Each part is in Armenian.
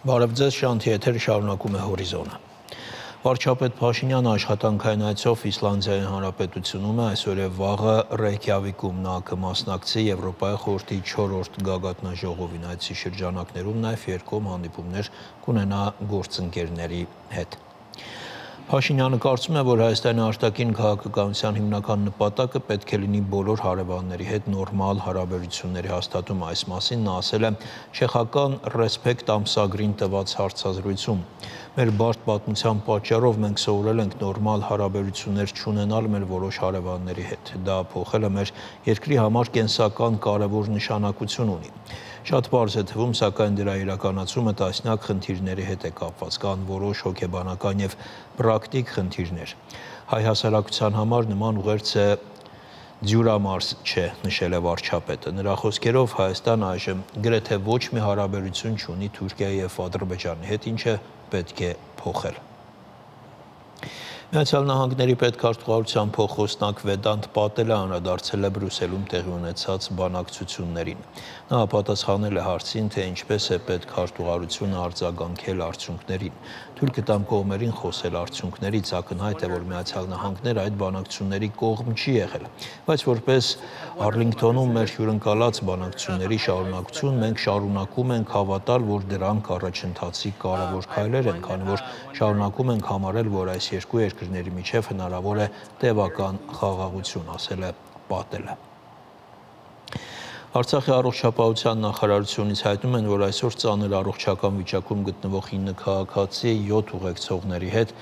Բարև ձեզ, Շանթի եթերը շարունակում է հորիզոնը։ Վարչապետ Փաշինյանը աշխատանքային այցով Իսլանդիայի Հանրապետությունում է, այսօր եւ վաղը Ռեյքյավիկում նա կմասնակցի Եվրոպայի խորհրդի 4-րդ գագաթնաժողովին, այցի շրջանակներում նաեւ երկկողմ հանդիպումներ կունենա գործընկերների հետ։ Փաշինյանը կարծում է, որ Հայաստանի արտաքին քաղաքականության հիմնական նպատակը պետք է լինի բոլոր հարևանների հետ նորմալ հարաբերությունների հաստատում։ Այս մասին նա ասել է չեխական Ռեսպեկտ ամսագրին տված հարցազրույցում։ Մեր բարդ պատմության պատճառով մենք սովորել ենք նորմալ հարաբերություններ չունենալ մեր որոշ հարևանների հետ։ Դա փոխելը մեր երկրի համար կենսական կարևոր նշանակություն ունի։ Շատ պարզ է թվում, սակայն դրա իրականացումը տասնյակ խնդիրների հետ է կապված, կան որոշ հոգեբանական եւ պրակտիկ խնդիրներ։ Հայ հասարակության համար նման ուղերձ է դյուրամարս չէ, նշել է վարչապետը։ Նրա խոսքերով Հայաստանը այժմ գրեթե ոչ մի հարաբերություն չունի Թուրքիայի եւ Ադրբեջանի հետ, ինչը պետք է փոխել։ Միացյալ Նահանգների պետքարտուղարության փոխխոսնակ Վեդանտ Պատելը անդրադարձել է Բրյուսելում տեղի ունեցած բանակցություններին։ Նա պատասխանել է հարցին, թե ինչպես է պետքարտուղարությունը արձագանքել արդյունքներին։ Թուրքը տամ կողմերին խոսել արդյունքներից, ակնհայտ է, որ Միացյալ Նահանգները այդ բանակցությունների կողմ չի եղել, բայց որպես Արլինգտոնում մեր հյուրընկալած բանակցությունների շարունակություն մենք շարունակում ենք հավատալ, որ դրանք առաջընթացի կարևոր քայլեր են, քանի որ շարունակում ենք համարել, որ այս երկու երկրների միջև հնարավոր է տևական խաղաղություն, ասել է Պատելը։ Արցախի առողջապահության նախարարությունից հայտնում են, որ այսօր ծանր առողջական վիճակում գտնվող 9 քաղաքացի 7 ուղեկցողների հետ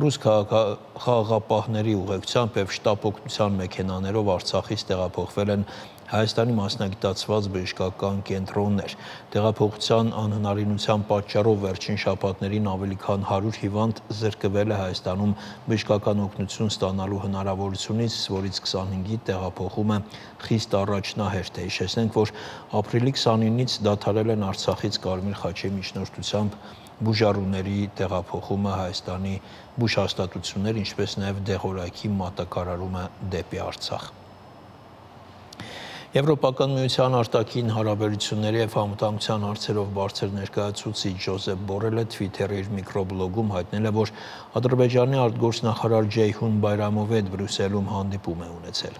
ռուս խաղաղապահների ուղեկցությամբ եւ շտապ օգնության մեքենաներով Արցախից տեղափոխվել են Հայաստանի մասնագիտացված բժշկական կենտրոններ։ Տեղափոխության անհնարինության պատճառով վերջին շաբաթներին ավելի քան 100 հիվանդ զրկվել է Հայաստանում բժշկական օգնություն ստանալու հնարավորությունից, որից 25-ի տեղափոխումը խիստ առաջնահերթ է։ Հիշեցնենք, որ ապրիլի 29-ից դադարել են Արցախից Կարմիր խաչի միջնորդությամբ բուժառուների տեղափոխումը Հայաստանի բուժհաստատություններ, ինչպես նաև դեղորայքի մատակարարումը դեպի Արցախ։ Եվրոպական միության արտաքին հարաբերությունների եւ համատանության հարցերով բարձր ներկայացուցիչ Ջոզեփ Բորելը Twitter-ի իր միկրոբլոգում հայտնել է, որ Ադրբեջանի արտգործնախարար Ջեյհուն Բայրամովի հետ Բրյուսելում հանդիպում է ունեցել։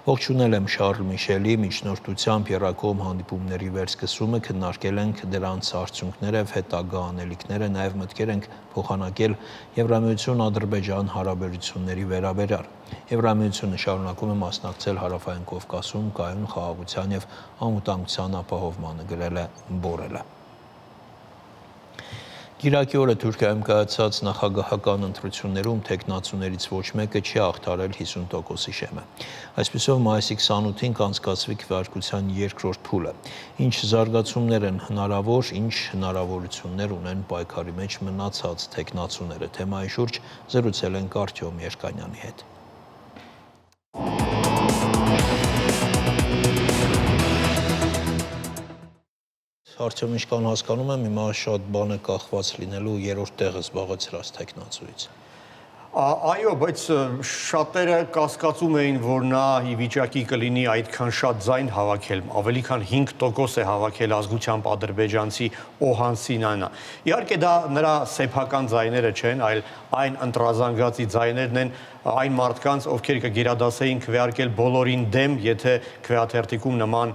Ողջունել եմ Շարլ Միշելի միջնորդությամբ եռակողմ հանդիպումների վերսկսումը, քննարկել ենք դրանց արդյունքները եւ հետագա անելիքները, նաեւ մտքեր ենք փոխանակել Եվրամիություն-Ադրբեջան հարաբերությունների վերաբերյալ։ Եվրամիությունը շարունակում է մասնակցել Հարավային Կովկասում կայուն խաղաղության եւ անվտանգության ապահովմանը, գրել է Բորելը։ Կիրակի օրը Թուրքիայում կայացած նախագահական ընտրություններում թեկնածուներից ոչ մեկը չի հաղթարել 50%-ի շեմը։ Այսպիսով մայիսի 28-ին կանցկացվի քվեարկության երկրորդ փուլը։ Ինչ զարգացումներ են հնարավոր, ինչ հնարավորություններ ունեն պայքարի մեջ մնացած թեկնածուները։ Թեմայի շուրջ զրուցել ենք Արտյոմ Երկանյանի հետ։ Արդյոք ինչքան հասկանում եմ, հիմա շատ բան է կախված լինելու երրորդ տեղը զբաղեցրած թեկնածուից։ Այո, բայց շատերը կասկածում էին, որ նա ի վիճակի կլինի այդքան շատ ձայն հավաքել, ավելի քան 5% է հավաքել ազգությամբ ադրբեջանցի Օհան Սինանա։ Իհարկե դա նրա սեփական ձայները չեն, այլ այն ընտրազանգացի ձայներն են այն մարդկանց, ովքեր կգերադասեին քվեարկել բոլորին դեմ, եթե քվեաթերթիկում նման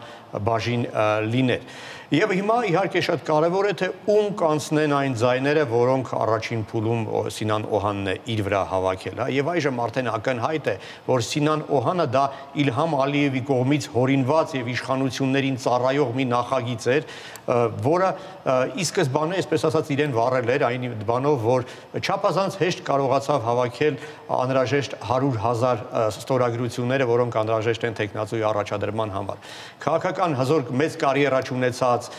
բաժին լիներ։ Եվ հիմա իհարկե շատ կարևոր է, թե ում կանցնեն այն ձայները, որոնք առաջին փուլում Սինան Օհանն է իր վրա հավաքել, եւ այժմ արդեն ակնհայտ է, որ Սինան Օհանը դա Իլհամ Ալիևի կողմից հորինված եւ իշխանություններին ծառայող մի նախագիծ էր, որը ի սկզբանե, այսպես ասած, իրեն վառել էր այն բանով, որ չափազանց հեշտ կարողացավ հավաքել անհրաժեշտ 100,000 ստորագրությունները, որոնք անհրաժեշտ են թեկնածուի առաջադրման համար։ Քաղաքական հզոր մեծ կարիերա ունեցած,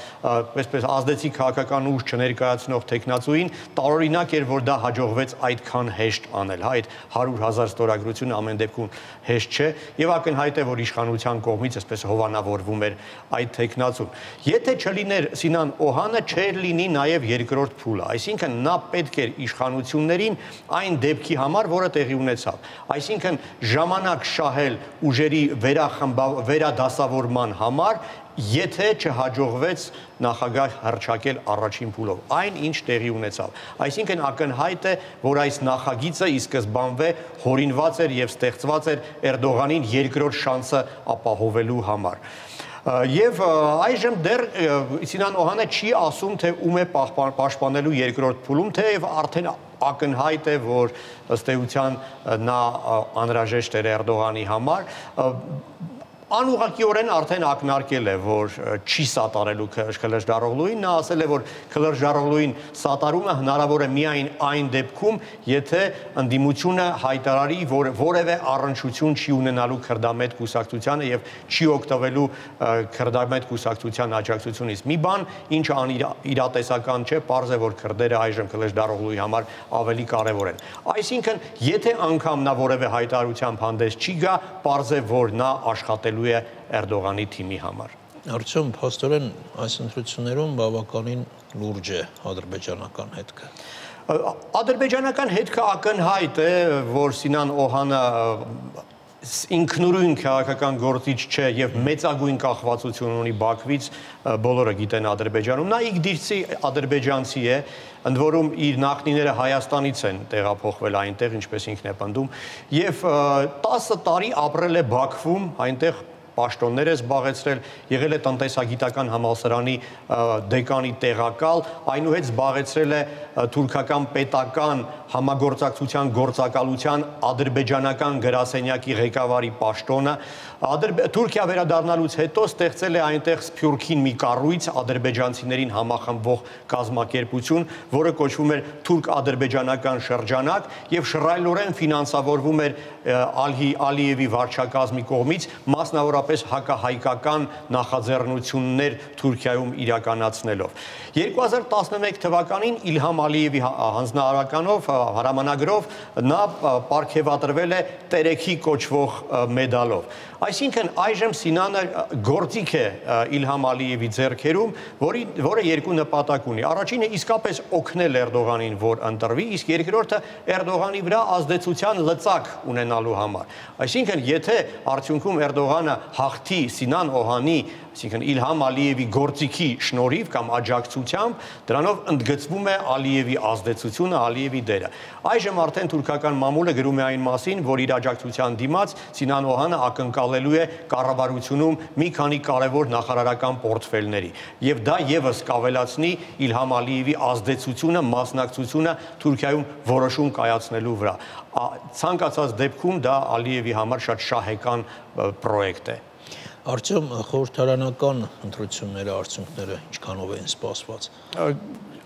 այսպես ազդեցիկ քաղաքական ուժ չներկայացնող թեկնածուին տարօրինակ էր, որ դա հաջողվեց այդքան հեշտ անել, հա, այդ 100,000 ստորագրությունը ամեն դեպքում հեշտ չէ, եւ ակնհայտ է, որ իշխանության կողմից այսպես հովանավորվում էր այդ թեկնածուն։ Եթե չլիներ Սինան Օհանը, չէր լինի նաեւ երկրորդ փուլը, այսինքն նա պետք էր իշխանություններին այն դեպքի համար, որը տեղի ունեցավ, այսինքն ժամանակ շահել ուժերի վերադասավորման համար եթե չհաջողվեց նախագահ հռչակել առաջին փուլով, այն ինչ տեղի ունեցավ։ Այսինքն ակնհայտ է, որ այս նախագիծը ի սկզբանվե հորինված էր եւ ստեղծված էր Էրդողանին երկրորդ շանսը ապահովելու համար։ Եվ այժմ դեռ Սինան Օհանը չի ասում, թե ում է պաշտպանելու երկրորդ փուլում, թեև արդեն ակնհայտ է, որ ըստ էության նա անհրաժեշտ էր Էրդողանի համար, անուղղակիորեն արդեն ակնարկել է, որ չի սատարելու Քլրջդարօղլուին, նա ասել է, որ Քլրջդարօղլուին սատարումը հնարավոր է միայն այն դեպքում, եթե ընդդիմությունը հայտարարի, որ որևէ առնչություն չի ունենալու քրդամետ կուսակցությանը եւ չի օգտվելու քրդամետ կուսակցության աջակցությունից։ Մի բան, ինչը անիրատեսական չէ, պարզ է, որ քրդերը այժմ Քլրջդարօղլուի համար ավելի կարևոր են։ Այսինքն, եթե անգամ նա որևէ հայտարարությամբ հանդես չի գա, պարզ է, որ նա աշխատելու է Էրդողանի թիմի համար։ Արդյոք փաստորեն այս ընտրություններում բավականին լուրջ է ադրբեջանական հետքը։ Ադրբեջանական հետքը ակնհայտ է, որ Սինան Օհանը ինքնուրույն քաղաքական գործիչ չէ եւ մեծագույն կախվածություն ունի Բաքվից, բոլորը գիտեն Ադրբեջանում։ Նա իգդիրցի ադրբեջանցի է, ընդ որում իր նախնիները Հայաստանից են տեղափոխվել այնտեղ, ինչպես ինքն է պնդում, եւ 10 տարի ապրել է Բաքվում, այնտեղ պաշտոններ է զբաղեցրել, եղել է տնտեսագիտական համալսարանի դեկանի տեղակալ, այնուհետ զբաղեցրել է թուրքական պետական համագործակցության գործակալության ադրբեջանական գրասենյակի ղեկավարի պաշտոնը, Թուրքիա վերադառնալուց հետո ստեղծել է այնտեղ Սփյուռքին մի կառույց ադրբեջանցիներին համախմբող կազմակերպություն, որը կոչվում էր թուրք-ադրբեջանական շրջանակ եւ շռայլորեն ֆինանսավորվում էր Ալիևի վարչակազմի կողմից, մասնավորապես հակահայկական նախաձեռնություններ Թուրքիայում իրականացնելով։ 2011 թվականին Իլհամ Ալիևի հանձնարարականով, հրամանագրով նա պարգևատրվել է Տերեքի կոչվող մեդալով։ Այսինքն այժմ Սինանը գործիք է Իլհամ Ալիևի ձեռքերում, որը երկու նպատակ ունի։ Առաջինը իսկապես օգնել Էրդողանին, որ ընտրվի, իսկ երկրորդը Էրդողանի վրա ազդեցության լծակ ունենալու համար։ Այսինքն, եթե արդյունքում Էրդողանը հաղթի Սինան Օհանի, այսինքն Իլհամ Ալիևի գործիքի շնորհիվ կամ աջակցությամբ, դրանով ընդգծվում է Ալիևի ազդեցությունը, Ալիևի դերը։ Այժմ արդեն թուրքական մամուլը գրում է այն մասին, որ իր աջակցության դիմաց Սինան Օհանը ակնկալելու է կառավարությունում մի քանի կարևոր նախարարական պորտֆելների, եւ դա եւս կավելացնի Իլհամ Ալիևի ազդեցությունը, մասնակցությունը Թուրքիայում որոշում կայացնելու վրա։ Ցանկացած դեպքում դա Ալիևի համար շատ շահեկան պրոյեկտ է։ Արդյոք խորհրդարանական ընտրությունների արդյունքները ինչքանով են սպասված։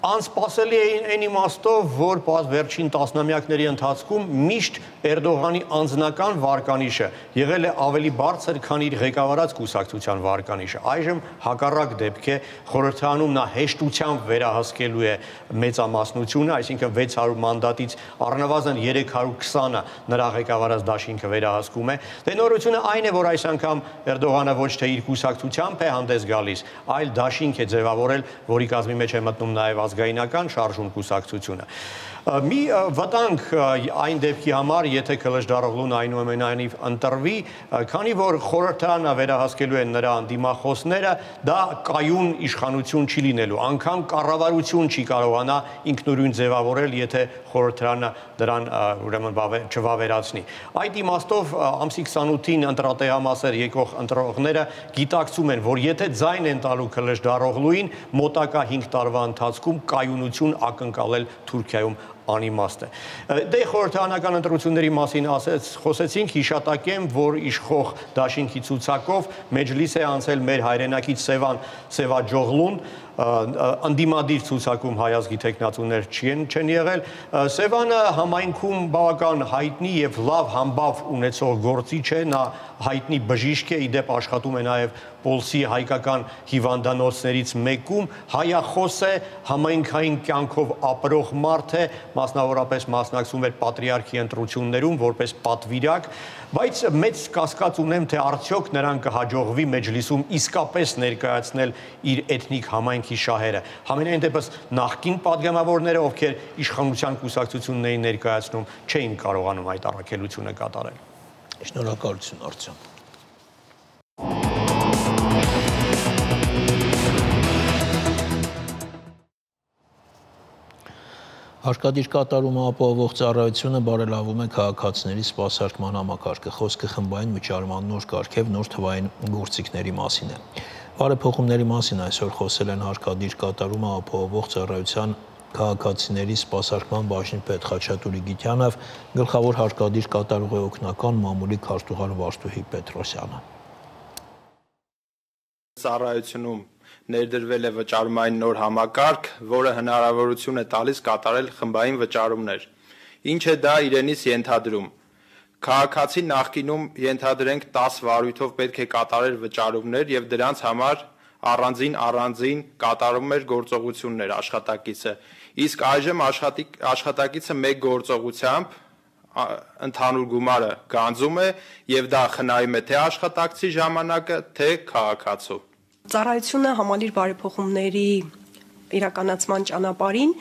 Անսպասելի է այն իմաստով, որ վերջին տասնամյակների ընթացքում միշտ Էրդողանի անձնական վարկանիշը եղել է ավելի բարձր, քան իր ղեկավարած կուսակցության վարկանիշը։ Այժմ հակառակ դեպք է, խորհրդարանում նա հեշտությամբ վերահսկելու է մեծամասնությունը, այսինքն 600 մանդատից առնվազն 320-ը նրա ղեկավարած դաշինքը վերահսկում է։ Դե նորությունը այն է, որ այս անգամ Էրդողանը ոչ թե իր կուսակցությամբ է հանդես գալիս, այլ դաշինք է ձևավորել, որի կազմի մեջ է մտնում նաև ազգայնական շարժում կուսակցությունը։ Մի վտանգ այն դեպքի համար, եթե Քլրջդարօղլուն այնուամենայնիվ ընտրվի, քանի որ խորհրդարանը վերահսկելու են նրա դիմախոսները, դա կայուն իշխանություն չի լինելու, անգամ կառավարություն չի կարողանա ինքնուրույն ձևավորել, եթե խորհրդարանը դրան ուրեմն չվավերացնի։ Այդ իմաստով ամսի 28-ին ընտրատեղամասեր եկող ընտրողները գիտակցում են, որ եթե ձայն են տալու Քլրջդարօղլուին, մոտակա 5 տարվա ընթացքում կայունություն ակնկալել Թուրքիայում անիմաստ է։ Դե խորհրդարանական ընտրությունների մասին խոսեցինք, հիշատակեմ, որ իշխող դաշինքի ցուցակով մեջլիս է անցել մեր հայրենակից Սևաջօղլուն, ընդդիմադիր ցուցակում հայազգի տեխնացուներ չեն եղել։ Սևանը համայնքում բավական հայտնի եւ լավ համբավ ունեցող գործիչ է, նա հայտնի բժիշկ է, իդեպ աշխատում է նաեւ Պոլսի հայկական հիվանդանոցներից մեկում, հայախոս է, համայնքային կյանքով ապրող մարդ է, մասնավորապես մասնակցում էր պատրիարքի ընտրություններում որպես պատվիրակ, բայց մեծ կասկած ունեմ, թե արդյոք նրան կհաջողվի մեջլիսում իսկապես ներկայացնել իր էթնիկ համայնքի շահերը։ Համենայն դեպս նախկին պատգամավորները, ովքեր իշխանության կուսակցությունն էին ներկայացնում, չէին կարողանում այդ առաքելությունը կատարել։ Շնորհակալություն, Արտյոմ։ Հարկադիր կատարումը ապահովող ծառայությունը բարելավում է քաղաքացիների սպասարկման համակարգը։ Խոսքը խմբային վճարման նոր կարգ եւ նոր թվային գործիքների մասին է։ Բարեփոխումների մասին այսօր խոսել են հարկադիր կատարումը ապահովող ծառայության քաղաքացիների սպասարկման բաժնի պետ Խաչատուր Իգիթյանը եւ գլխավոր հարկադիր կատարողի օգնական մամուլի քարտուղար Վարդուհի Պետրոսյանը։ Ծառայությունում ներդրվել է վճարումային նոր համակարգ, որը հնարավորություն է տալիս կատարել խմբային վճարումներ։ Ինչ է դա իրենից ենթադրում։ Քաղաքացին նախկինում ենթադրենք 10 վարույթով պետք է կատարել վճարումներ եւ դրանց համար առանձին կատարում էր գործողություններ աշխատակիցը։ Իսկ այժմ աշխատակիցը մեկ գործողությամբ ընդհանուր գումարը գանձում է եւ դա խնայում է թե աշխատակցի ժամանակը, թե քաղաքացու։ Ծառայությունը համալիր բարեփոխումների իրականացման ճանապարհին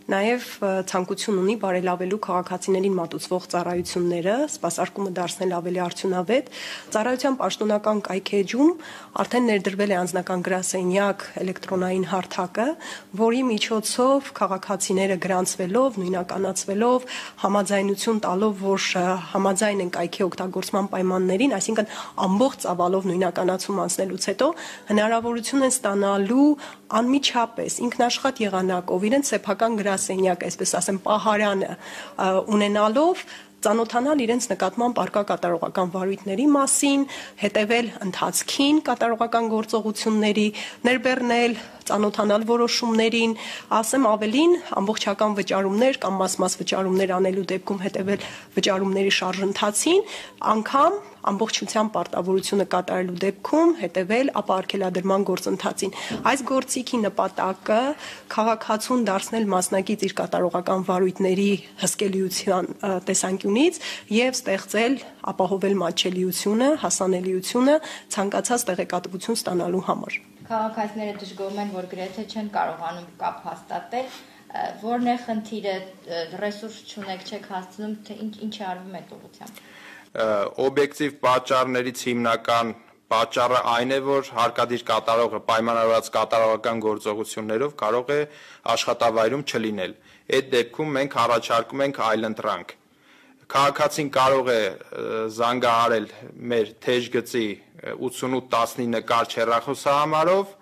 նաև ցանկություն ունի բարելավելու քաղաքացիներին մատուցվող ծառայությունները, սպասարկումը դարձնել ավելի արդյունավետ։ Ծառայության պաշտոնական կայքեջում արդեն ներդրվել է անձնական գրասենյակ էլեկտրոնային հարթակը, որի միջոցով քաղաքացիները գրանցվելով, նույնականացվելով, համաձայնություն տալով, որ համաձայն են կայքի օգտագործման պայմաններին, այսինքն ամբողջ ծավալով նույնականացում անցնելուց հետո հնարավորություն են ստանալու անմիջապես ինքնաշխատ եղանակով իրենց սեփական գրասենյակ, այսպես ասեմ, պահարանը ունենալով ծանոթանալ իրենց նկատմամբ առկա կատարողական վարույթների մասին, հետևել ընթացքին կատարողական գործողությունների, ներբեռնել, ծանոթանալ որոշումներին, ասեմ ավելին, ամբողջական վճարումներ կամ մաս վճարումներ անելու դեպքում հետևել վճարումների շարժընթացին, անգամ ամբողջությամբ պարտավորությունը կատարելու դեպքում հետևել ապահովագրման գործընթացին։ Այս գործիքի նպատակը քաղաքացուն դարձնել մասնակից իր կատարողական վարույթների հսկելիության տեսանկյունից եւ ստեղծել, ապահովել մատչելիությունը, հասանելիությունը ցանկացած տեղեկատվություն ստանալու համար։ Քաղաքացիները դժգոհում են, որ գրեթե չեն կարողանում կապ հաստատել, որն է խնդիրը, ռեսուրս չունեք, չեք հասցնում, թե ինչ է արվում այդ ուղղությամբ։ Օբյեկտիվ պատճառներից հիմնական պատճառը այն է, որ հարկադիր կատարողը պայմանավորված կատարողական գործողություններով կարող է աշխատավայրում չլինել։ Այդ դեպքում մենք առաջարկում ենք այլընտրանք։ Քաղաքացին կարող է զանգահարել մեր թեժգծի 8819 կարճ հեռախոսահամարով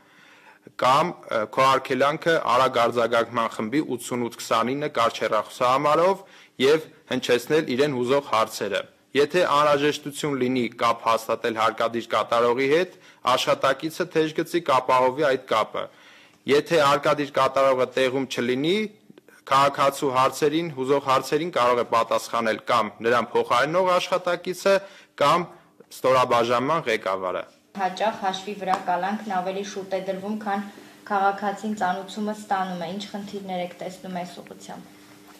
կամ քոհարկելանքը արագ արձագանքման խմբի 8829 կարճ հեռախոսահամարով եւ հնչեցնել իրեն հուզող հարցերը։ Եթե անհրաժեշտություն լինի կապ հաստատել հարկադիր կատարողի հետ, աշխատակիցը թեժգծի կապահովի այդ կապը։ Եթե հարկադիր կատարողը տեղում չլինի, քաղաքացու հարցերին, հուզող հարցերին կարող է պատասխանել կամ նրան փոխարինող աշխատակիցը կամ ստորաբաժանման ղեկավարը։ Հաճախ հաշվի վրա կալանքն ավելի շուտ է դրվում, քան քաղաքացին ծանուցումը ստանում է։ Ինչ խնդիրներ եք տեսնում այս ուղղությամբ։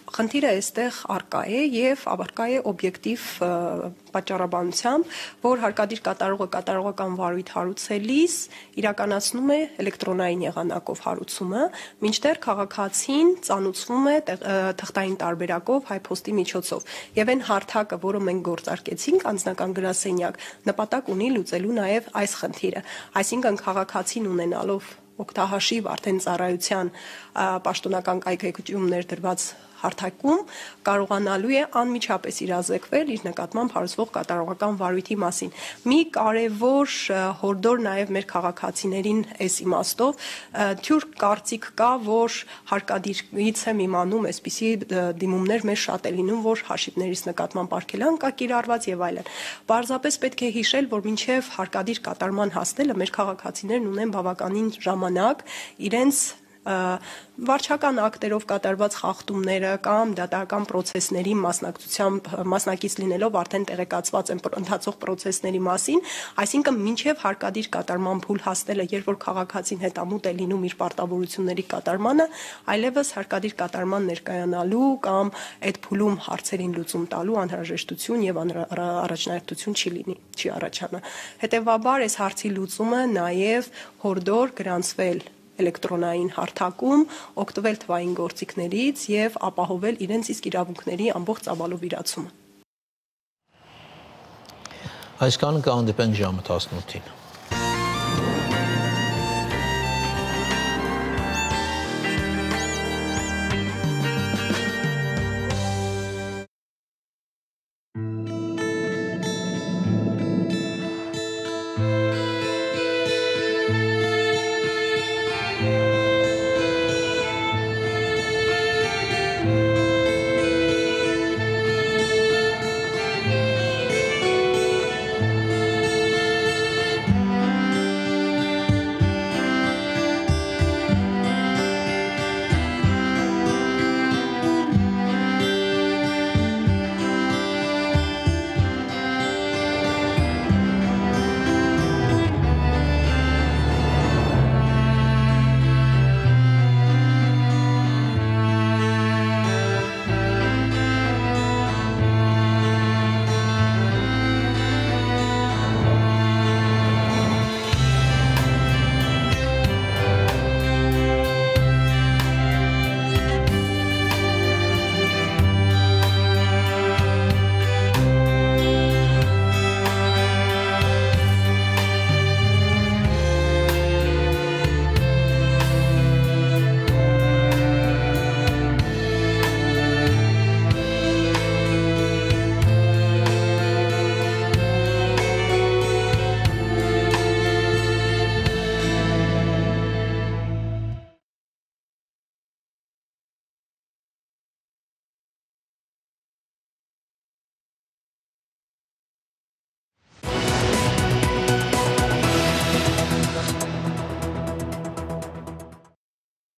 Խնդիրը այստեղ առկա է եւ առկա է օբյեկտիվ պատճառաբանությամբ, որ հարկադիր կատարողը կատարողական վարույթ հարուցելիս իրականացնում է էլեկտրոնային եղանակով հարուցումը, մինչդեռ քաղաքացին ծանուցվում է թղթային տարբերակով հայփոստի միջոցով։ Եվ այն հարթակը, որը մենք գործարկեցինք, անձնական գրասենյակ, նպատակ ունի լուծելու նաեւ այս խնդիրը։ Այսինքն քաղաքացին ունենալով օգտահաշիվ արդեն ծառայության պաշտոնական կայքեջում ներդրված հարթակում կարողանալու է անմիջապես իրազեկվել իր նկատմամբ հարուցվող կատարողական վարույթի մասին։ Մի կարևոր հորդոր նաև մեր քաղաքացիներին այս իմաստով թյուր կարծիք կա, որ հարկադիրից եմ իմանում այսպիսի դիմումներ մեր շատ է լինում, որ հաշիվներից նկատմամբ արգելանք կա կիրառված եւ այլն։ Պարզապես պետք է հիշել, որ մինչեւ հարկադիր կատարման հասնելը մեր քաղաքացիներն ունեն բավականին ժամանակ իրենց վարչական ակտերով կատարված խախտումները կամ դատական process-ների մասնակից լինելով արդեն տեղեկացված են ընթացող process-ների մասին, այսինքն մինչև հարկադիր կատարման փուլ հասնելը, երբ որ քաղաքացին հետամուտ է լինում իր պարտավորությունների կատարմանը, այլևս հարկադիր կատարման ներկայանալու կամ այդ փուլում հարցերին լուծում տալու անհրաժեշտություն եւ առաջնահերթություն չի առաջանա։ Հետևաբար այս հարցի լուծումը նաեւ հորդոր գրանցվել էլեկտրոնային հարթակում, օգտվել թվային գործիքներից եւ ապահովել իրենց իսկ իրավունքների ամբողջ ծավալով իրացումը։ Այսքանը կհանդիպենք ժամը 18-ին։